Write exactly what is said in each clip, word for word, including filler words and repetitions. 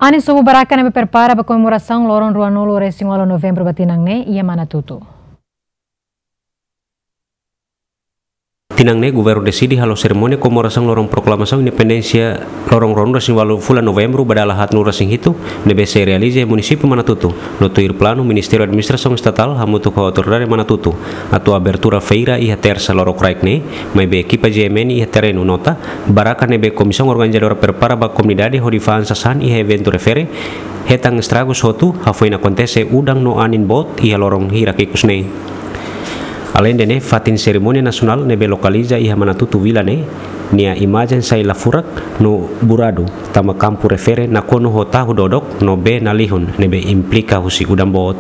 Anin sobu barraka ne'ebé prepara ba komemorasaun loron ruanulu-resin-ualu Novembru ba tinan ne'e iha Manatutu. Tinan ne'e, governu deside halo serimónia komemorasaun loron proklamasaun independénsia loron ruanulu-resin-ualu fulan Novembru ba dala haatnulu-resin-hitu, ne'ebé sei realiza iha munisípiu Manatutu. No tuir planu, Ministériu Administrasaun Estatál hamutuk ho autoridade Manatutu atu abertura feira iha Tersa lorokraik ne'e, maibé ekipa G M N iha terrenu nota, barraka ne'ebé komisaun organizadora prepara ba komunidade hodi fa'an sasán iha eventu refere, hetan estragus hotu hafoin akontese udan no anin boot iha loron hirak ikus ne'e. Aleinde ne'e, fatin serimónia nasionál ne'ebé lokaliza iha Manatutu Vila ne'e, nia imajen sai la furak no buradu, tanba kampu refere nakonu ho tahu dodok no bee nalihun ne'ebé implika husi udan boot.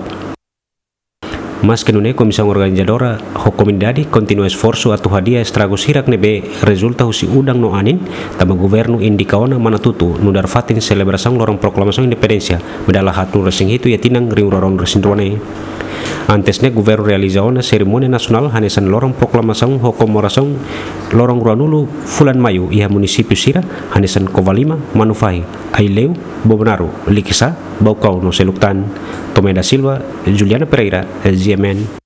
Maske nune'e, komisaun organizadora ho komunidade kontinua esforsu atu hadi'a estragus hirak ne'ebé rezulta husi udan no anin, tanba governu indika ona Manatutu nu'udar fatin selebrasaun loron proklamasaun independénsia ba dala haatnulu-resin-hitu iha tinan rihun rua ruanulu-resin-rua ne'e. Antes ne'e, governu realiza ona serimónia nasionál hanesan loron proklamasaun ho komemorasaun loron ruanulu fulan Maiu iha munisípiu sira hanesan Covalima, Manufahi, Aileu, Bobonaro, Likisá, Baucau no seluk tan. Tomé da Silva, Juliana Pereira, G M N.